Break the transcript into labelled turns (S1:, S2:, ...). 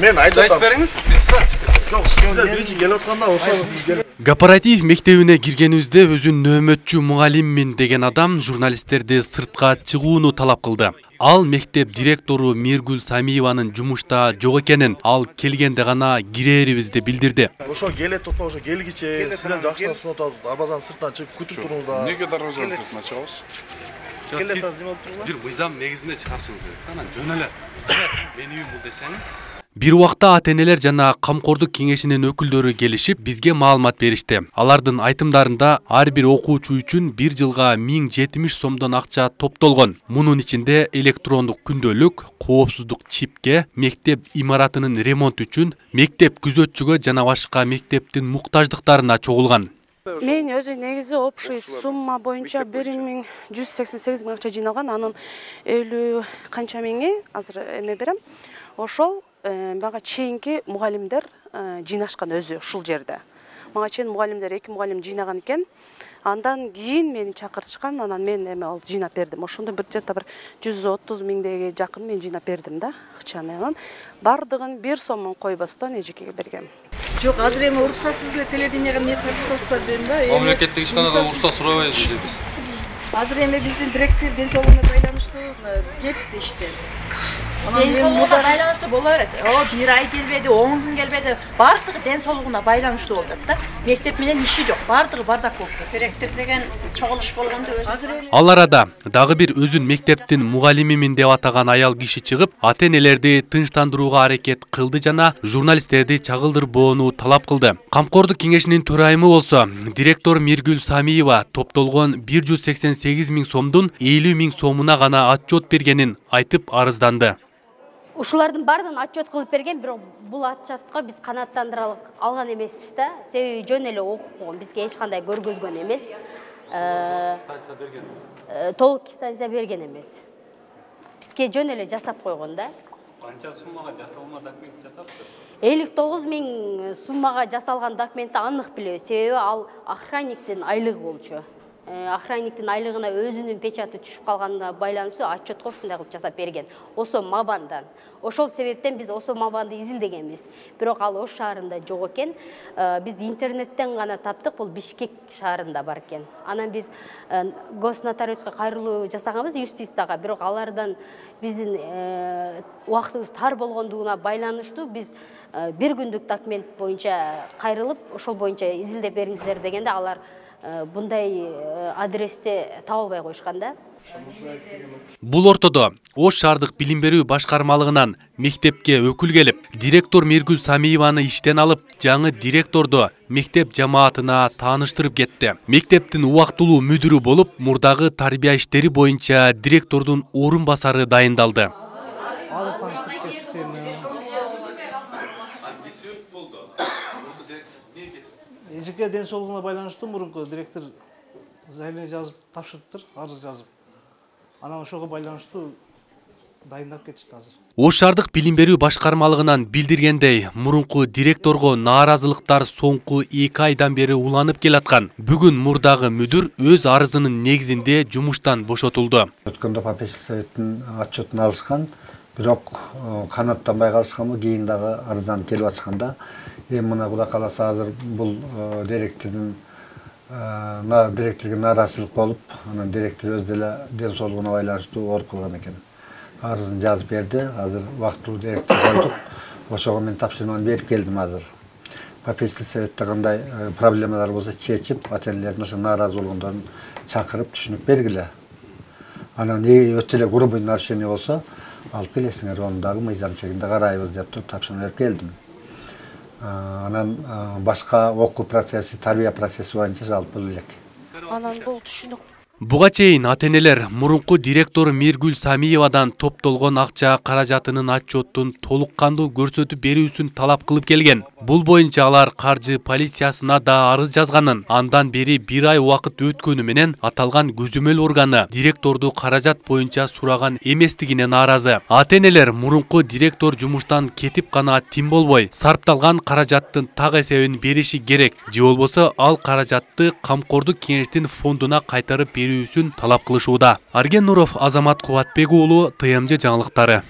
S1: Мен айтып
S2: бериңиз, биз
S1: жок, сиздер биринчи келип атканда болсо
S3: Кооператив мектебине киргенибизде өзүн нөөмөтчү мугалиммин деген адам журналисттерди сыртка чыгууну талап кылды. Ал мектеп директору Миргүл Самиеванын жумушта жок экенин, ал келгенде гана кирээрибизди билдирди.
S1: Ошо келет топо ошо келгиче сизден жакшыдан сунуп атабыз. Дарбазанын сыртынан чыгып күтүп туруңуздар.
S2: Неге дарбазанын сыртына чыгабыз?
S3: Бир мыйзам негизинде чыгарышыңыз керек. Анан жөн эле. Мени үйүм бул десеңиз. Бир убакта ата-энелер жана камкордук кеңешинин өкүлдөрү келишип, бизге маалымат беришти. Алардын айтымдарында ар бир окуучу үчүн 1 жылга 1070 сомдон акча топтолгон. Мунун ичинде электрондук күндөлүк, коопсуздук чипке, мектеп имаратынын ремонту үчүн, мектеп күзөтчүгө жана башка мектептин муктаждыктарына чогулган.
S4: Мен өзү негизи общий сумма боюнча 1188 миң акча жыйналган. Анын 50 канча миңи азыр эме берем. Ошол мага чейинки мугалимдер жыйнашкан өзү ушул жерде. Мага чейин мугалимдер 2 мугалим жыйнаган экен. Андан кийин мени чакыртышкан, анан мен эме ал жыйнап бердим. Ошондо бир жакта бир 130 миңдеге жакын мен жыйнап бердим да, акчаны. Анан бардыгын 1 сомун койбостон эжекеге бергем.
S5: Жок, азыр эми уруксатсыз эле телевиденияга эмне тартасыздар дедим да.
S2: Мамлекеттик ишканада уруксат сурабайбыз дейбиз.
S5: Азыр эми биздин директор ден соолугуна байланыштуу кетти иштен.
S6: Ден соолугуна байланыштуу боло берет. Бир ай келбеди, 10 күн келбеди. Бардыгы ден соолугуна байланыштуу болуп атат да. Мектеп менен иши жок, бардыгы бардак болуп атат.
S5: Директор деген чогулуш болгондо өзү.
S3: Ал арада дагы бир өзүн мектептин мугалимимин деп атаган аял киши чыгып, ата-энелерди тынчтандырууга аракет кылды жана журналисттерди чагылдырбоону талап кылды. Камкордук кеңешинин төрайымы болсо, директор Миргүл Самиева топтолгон 188 миң сомдун 50 миң сомуна гана отчет бергенин айтып арызданды.
S7: Ушулардын бардын отчет кылып берген, бирок бул отчетко биз канааттандыра алган эмеспиз да. Себеби жөн эле окуп койгон, бизге эч кандай көргөзгөн эмес. Толук квитанция берген эмес. Бизге жөн эле жасап койгон да.
S2: Канча суммага жасалма документ жасаптыр?
S7: 59 миң суммага жасалган документти анык билебиз. Себеби ал охранниктин айлыгы болчу. Охранниктин айлыгына өзүнүн печаты түшүп калганына байланыштуу отчетко ушундай кылып жасап берген. Осо Мабандан. Ошол себептен биз Осо Мабанды изилдегенбиз. Бирок ал Ош шаарында жок экен. Биз интернеттен гана таптык, бул Бишкек шаарында бар экен. Анан биз госнотариуска кайрылуу жасаганбыз, юстицияга, бирок алардан биздин убактыбыз тар болгондугуна байланыштуу биз 1 күндүк документ боюнча кайрылып, ошол боюнча изилдеп бериңиздер дегенде алар bunday adreste табылбай коюшкан да.
S3: Бул ортодо Ош шаардык билим берүү башкармалыгынан мектепке өкүл келип, директор Миргүл Самиеваны иштен алып, жаңы директорду мектеп жамаатына тааныштырып кетти. Мектептин убактылуу мүдүрү болуп, мурдагы тарбия иштери боюнча директордун орун басары дайындалды.
S8: Эжеке ден соолугуна байланыштуу мурунку директор заявление жазып тапшырыптыр, арыз жазып. Анан ошого байланыштуу дайындап кетишти азыр.
S3: Ош шаардык билим берүү башкармалыгынан билдиргендей, мурунку директорго нааразылыктар соңку 2 айдан бери уланып келаткан. Бүгүн мурдагы мүдүр өз арызынын негизинде жумуштан бошотулду.
S9: Өткөндө попечительский советтин отчетун алышкан, бирок канааттанбай калышканбы, кийин дагы арыздан келип атышканда, эми мына Кудай кааласа азыр бул директордун директорго нааразычылык болуп, анан директор өз деле ден соолугуна байланыштуу ооруп калган экен. Арызын жазып берди, азыр убактылуу директор койдук. Ошого мен тапшырманы берип келдим азыр. Попечительский советте кандай проблемалар болсо чечип, ата-энелердин ошо нааразы болгондорун чакырып түшүнүк бергиле. Анан өтө эле грубый нарушение болсо, алып келесиңер, onu дагы мыйзам чегинде карайбыз деп туруп тапшырма берип келдим. Анан башка окуу процесси, тарбия процесси боюнча жалпы элек.
S4: Анан бул түшүнүк.
S3: Буга чейин ата-энелер мурунку директор Миргүл Самиевадан топтолгон акча каражатынын отчетун толук кандуу көрсөтүп берүүсүн талап кылып келген. Бул боюнча алар каржы полициясына да арыз жазганын, андан бери 1 ай убакыт өткөнү менен аталган көзөмөл органы директорду каражат боюнча сураган эместигине нааразы. Ата-энелер мурунку директор жумуштан кетип гана тим болбой, сарпталган каражаттын так эсебин бериши керек. Же болбосо ал каражатты камкордук кеңештин фондуна кайтарып берүүсүн талап кылышууда. Арген Нуров, Азамат Кубатбек уулу, ТМЖ жаңылыктары.